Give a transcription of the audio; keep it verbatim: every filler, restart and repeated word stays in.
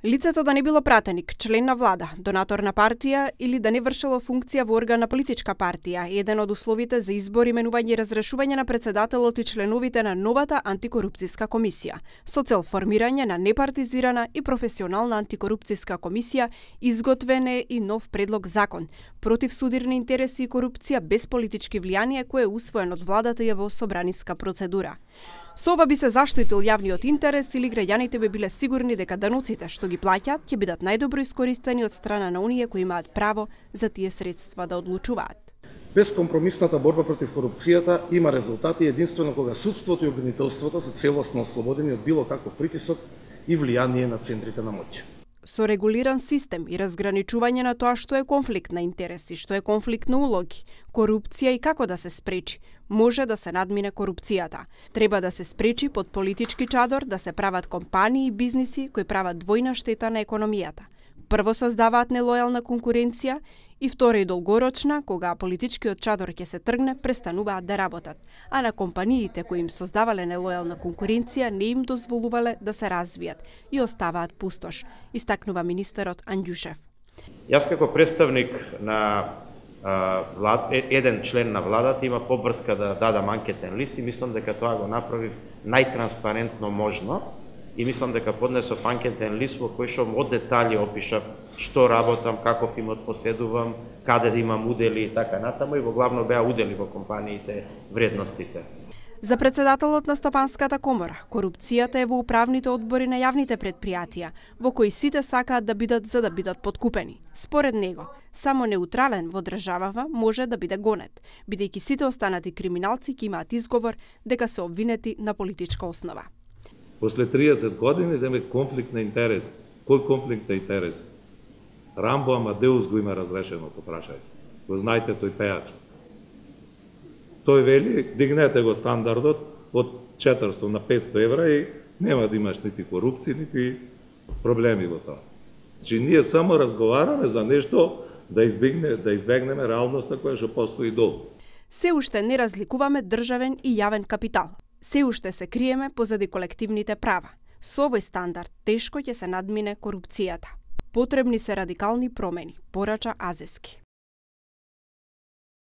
Лицето да не било пратеник, член на влада, донатор на партија или да не вршело функција во орган на политичка партија е еден од условите за избор, именување и разрешување на председателот и членовите на новата антикорупцијска комисија, со цел формирање на непартизирана и професионална антикорупцијска комисија. Изготвен е и нов предлог закон против судирни интереси и корупција без политички влијание, кој е усвоен од владата и е во собраниска процедура. Со ова би се заштитил јавниот интерес или граѓаните би биле сигурни дека даноците што ги плаќаат ќе бидат најдобро искористени од страна на оние кои имаат право за тие средства да одлучуваат. Безкомпромисната борба против корупцијата има резултати единствено кога судството и обвинителството се целосно ослободени од било каков притисок и влијание на центрите на моќ. Со регулиран систем и разграничување на тоа што е конфликт на интереси, што е конфликт на улоги, корупција и како да се спречи, може да се надмине корупцијата. Треба да се спречи под политички чадор да се прават компании и бизниси кои прават двојна штета на економијата. Прво создаваат нелојална конкуренција и втора и долгорочна, кога политичкиот чадор ќе се тргне, престануваат да работат, а на компаниите кои им создавале нелојална конкуренција не им дозволувале да се развијат и оставаат пустош, истакнува министерот Анѓушев. Јас како представник на а, влад, еден член на владата имав обврска да дадам анкетен лист и мислам дека тоа го направив најтранспарентно можно и мислам дека поднесов анкетен лист во кој што од детали опишав што работам, каков имот поседувам, каде да имам удели и така натаму, и во главно беа удели во компаниите, вредностите. За председателот на Стопанската комора, корупцијата е во управните одбори на јавните предпријатија, во кои сите сакаат да бидат за да бидат подкупени. Според него, само неутрален во државава може да биде гонет, бидејќи сите останати криминалци ќе имаат изговор дека се обвинети на политичка основа. После триесет години идеме конфликт на интерес. Кој конфликт на интерес? Рамбо Амадеус го има разрешено по прашање. Го знаете тој пејач. Тој вели, дигнете го стандардот од четиристо на петсто евра и нема да имаш нити корупција, нити проблеми во тоа. Значи, ние само разговараме за нешто да избегне, да избегнеме реалноста која што постои долу. Се уште не разликуваме државен и јавен капитал. Се уште се криеме позади колективните права. Со овој стандард тешко ќе се надмине корупцијата. Потребни се радикални промени, порача Азески.